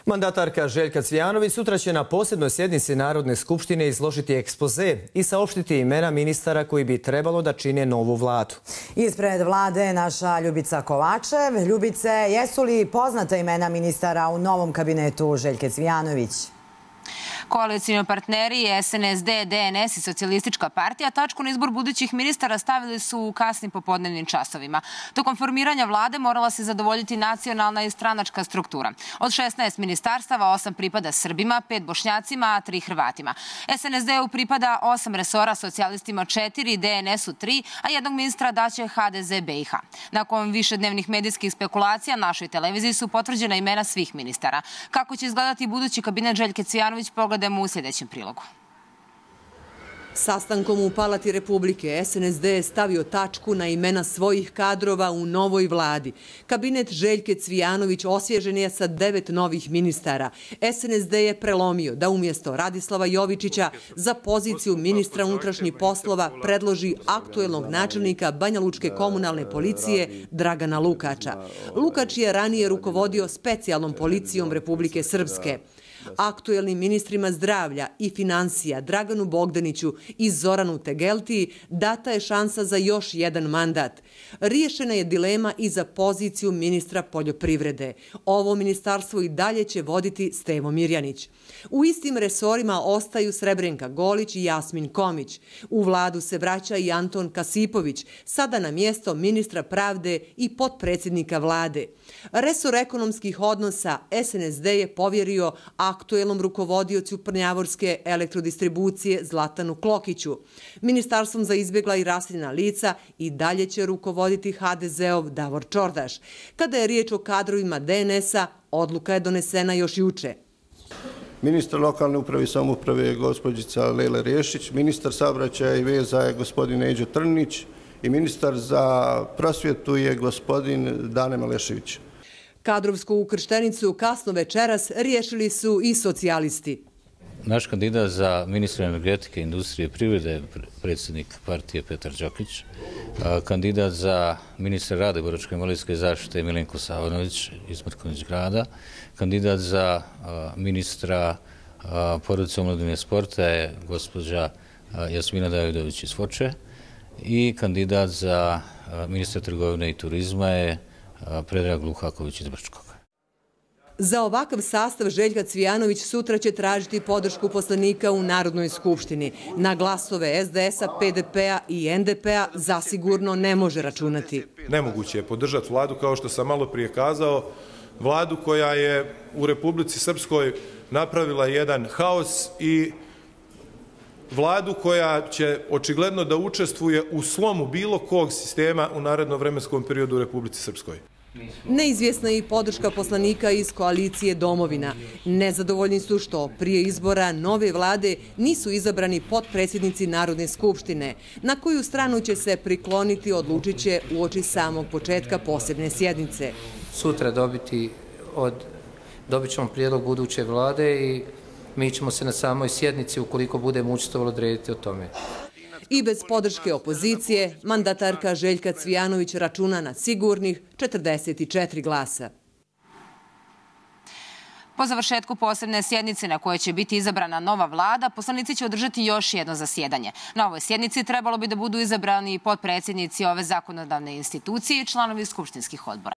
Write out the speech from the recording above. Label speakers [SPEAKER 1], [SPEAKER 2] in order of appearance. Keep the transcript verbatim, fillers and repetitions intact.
[SPEAKER 1] Mandatarka Željka Cvijanović sutra će na posebnoj sjednici Narodne skupštine izložiti ekspoze i saopštiti imena ministara koji bi trebalo da čine novu vladu.
[SPEAKER 2] Ispred vlade naša Ljubica Kovačev. Ljubice, jesu li poznata imena ministara u novom kabinetu Željke Cvijanović?
[SPEAKER 3] Koalicijni partneri S N S D, D N S i Socijalistička partija tačku na izbor budućih ministara stavili su u kasnim popodnevnim časovima. Tokom formiranja vlade morala se zadovoljiti nacionalna i stranačka struktura. Od šesnaest ministarstava osam pripada Srbima, pet Bošnjacima, a tri Hrvatima. S N S D-u pripada osam resora, socijalistima četiri, D N S-u tri, a jednog ministra daće H D Z B i H. Nakon višednevnih medijskih spekulacija našoj televiziji su potvrđena imena svih ministara. Kako će izgledati budući kabinet Željke Cvijanović, pogledajmo u sljedećem prilogu.
[SPEAKER 4] Sastankom u Palati Republike S N S D je stavio tačku na imena svojih kadrova u novoj vladi. Kabinet Željke Cvijanović osvježen je sa devet novih ministara. S N S D je prelomio da umjesto Radislava Jovičića za poziciju ministra unutrašnjih poslova predloži aktuelnog načelnika Banjalučke komunalne policije Dragana Lukača. Lukač je ranije rukovodio specijalnom policijom Republike Srpske. Aktuelnim ministrima zdravlja i financija Draganu Bogdaniću i Zoranu Tegeltiji data je šansa za još jedan mandat. Riješena je dilema i za poziciju ministra poljoprivrede. Ovo ministarstvo i dalje će voditi Stevo Mirjanić. U istim resorima ostaju Srebrenka Golić i Jasmin Komić. U vladu se vraća i Anton Kasipović, sada na mjesto ministra pravde i potpredsjednika vlade. Resor ekonomskih odnosa S N S D je povjerio aktuelnom rukovodiocu Prnjavorske elektrodistribucije Zlatanu Klokiću. Ministarstvom za izbjegla i raseljena lica i dalje će rukovoditi H D Z-ov Davor Čordaš. Kada je riječ o kadrovima D N S-a, odluka je donesena još juče.
[SPEAKER 5] Ministar lokalne uprave i samouprave je gospođica Lela Riješić, ministar saobraćaja i veza je gospodin Neđo Trnić i ministar za prosvjetu je gospodin Dane Malešević.
[SPEAKER 4] Kadrovsku ukrštenicu kasno večeras riješili su i socijalisti.
[SPEAKER 6] Naš kandidat za ministra energetike, industrije i privrede je predsjednik partije Petar Đokić. Kandidat za ministra rada i boračko-invalidske zaštite je Milenko Savanović iz Mrkonjić grada. Kandidat za ministra porodice, omladine i sporta je gospođa Jasmina Davidović iz Foče. I kandidat za ministra trgovine i turizma je Predrag Luhaković iz Brčkog.
[SPEAKER 4] Za ovakav sastav Željka Cvijanović sutra će tražiti podršku poslanika u Narodnoj skupštini. Na glasove S D S-a, P D P-a i N D P-a zasigurno ne može računati.
[SPEAKER 7] Nemoguće je podržati vladu, kao što sam malo prije kazao, vladu koja je u Republici Srpskoj napravila jedan haos i vladu koja će očigledno da učestvuje u slomu bilo kog sistema u narednom vremenskom periodu u Republici Srpskoj.
[SPEAKER 4] Neizvjesna je i podrška poslanika iz koalicije Domovina. Nezadovoljni su što prije izbora nove vlade nisu izabrani potpredsjednici Narodne skupštine. Na koju stranu će se prikloniti odlučit će uoči samog početka posebne sjednice.
[SPEAKER 8] Sutra dobiti od, dobit ćemo prijedlog buduće vlade i mi ćemo se na samoj sjednici, ukoliko budemo učestvovali, odrediti o tome.
[SPEAKER 4] I bez podrške opozicije, mandatarka Željka Cvijanović računa na sigurnih četrdeset četiri glasa.
[SPEAKER 3] Po završetku posebne sjednice na kojoj će biti izabrana nova vlada, poslanici će održati još jedno zasjedanje. Na ovoj sjednici trebalo bi da budu izabrani potpredsjednici ove zakonodavne institucije i članovi skupštinskih odbora.